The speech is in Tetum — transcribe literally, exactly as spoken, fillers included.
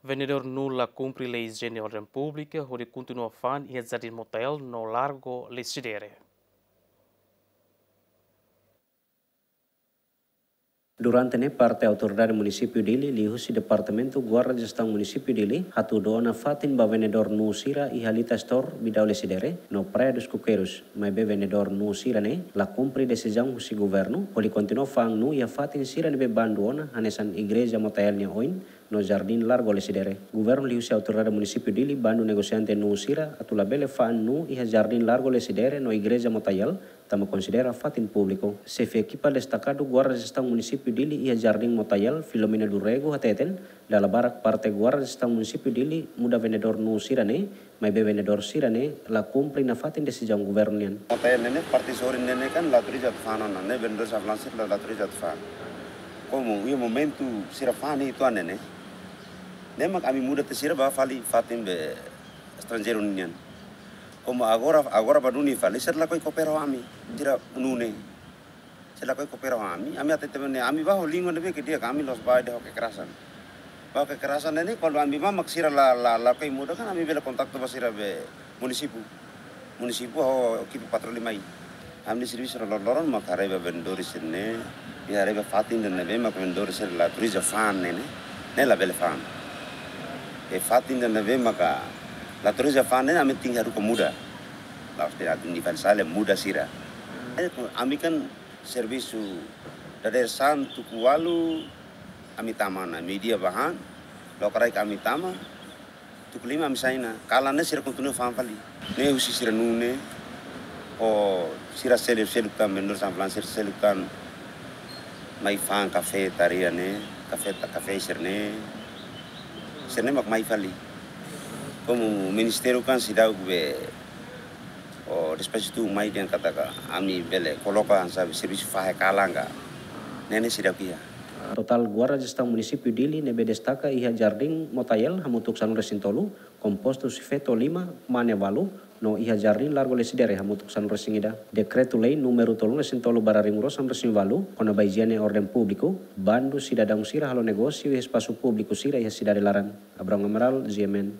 Vendedór nuu la kumpre lei ijiene orden públika hodi kontinua fa'an iha Jardín Motael no Largo Lecidere. Durante ne'e parte autoridade munisípiu Dili liuhusi Departamentu Guarda Jestaun Munisípiu Dili hatudu ona fatin ba vendedór nuu sira iha Lita Store, Bidau Lecidere no Praia dos Coqueiros, maibé vendedór nuu sira-ne'e la kumpre desizaun husi governu hodi kontinua fa'an nuu iha fatin sira ne'ebé bandu ona hanesan Igreja Motael nia oin no Jardín Largo Lecidere. Governu liuhusi autoridade munisípiu Dili bandu negosiante nuu sira atu labele fa'an nuu iha Jardín Largo Lecidere no Igreja Motael, tanba konsidera fatin públiku. Xefe ekipa destakadu Guarda Jestaun Munisípiu Dili iha Jardín Motael, Filomena do Rego, hateten, dala barak parte Guarda Jestaun Munisípiu Dili muda vendedór nuu sira-ne'e, maibé vendedór sira-ne'e la kumpre nafatin desizaun governu nian. Motael ne'e ne'e, parte sorin ne'e ne'e kan la autoriza atu fa'an ona, ne'e vendedór sira fa'an sira la, la autoriza atu fa'an. Komu iha momentu sira fa'an ne'e uitoan ne'e ne'e, ne'e mak ami muda tiha sira ba fali fatin be estranjeiru nian. Komu agora, agora ba duni fali, sira lakohi koopera ho ami, sira nuu ne'e. Sira lakohi koopera ho ami, ami hatete ne'e, ami ba ho língua ne'ebé ke di'ak, ami la'ós ba dehan ho kekerasan. Ba ho kekerasan ne'e ne'e, kuandu ami ba mak sira la, la, lakohi muda kan ami bele kontaktu ba sira be munisípiu. Munisípiu ho ekipa patroli mai. Ami-nia servisu lor-loron mak haree ba vendedór sira-ne'e, i haree ba fatin ida ne'ebé mak vendedór sira la autoriza fa'an ne'e ne'e, ne'e labele fa'an. I fatin ida ne'ebé maka la autoriza fa'an ne'e, ami tenke haruka muda. La'ós dehan atu nivel sale muda sira. Eh, ami kan servisu dadeer-saan tuku ualu ami tama ona, meiudia ba han, lokraik ami tama, tuku lima ami sai ona, kalan ne'e sira kontinua fa'an fali. Ne'e husi sira nuu ne'e, ho sira seluk-seluk tan, vendedór sira fa'an sira seluk tan, mai fa'an kafetaria ne'e, kafeta-, kafé sira-ne'e, sira-ne'e mak mai fali. Komu ministériu kan seidauk be, o despaxu tun mai dehan katak ami bele koloka hanesan servisu fahe kalan ka. Ne'e ne'e seidauk iha. Totál Guarda Jestaun Munisípiu Dili ne'ebé destaka iha Jardín Motael hamutuk sanulu-resin-tolu, kompostu husi feto lima, mane ualu, no iha Jardín Largo Lecidere hamutuk sanulu-resin-ida. Dekretu-lei númeru tolunulu-resin-tolu barra rimuru sanulu-resin-ualu, kona-ba ijiene orden públiku, bandu sidadaun sira halo negósiu iha espasu públiku sira iha sidade laran. Abrão Amaral, G M N.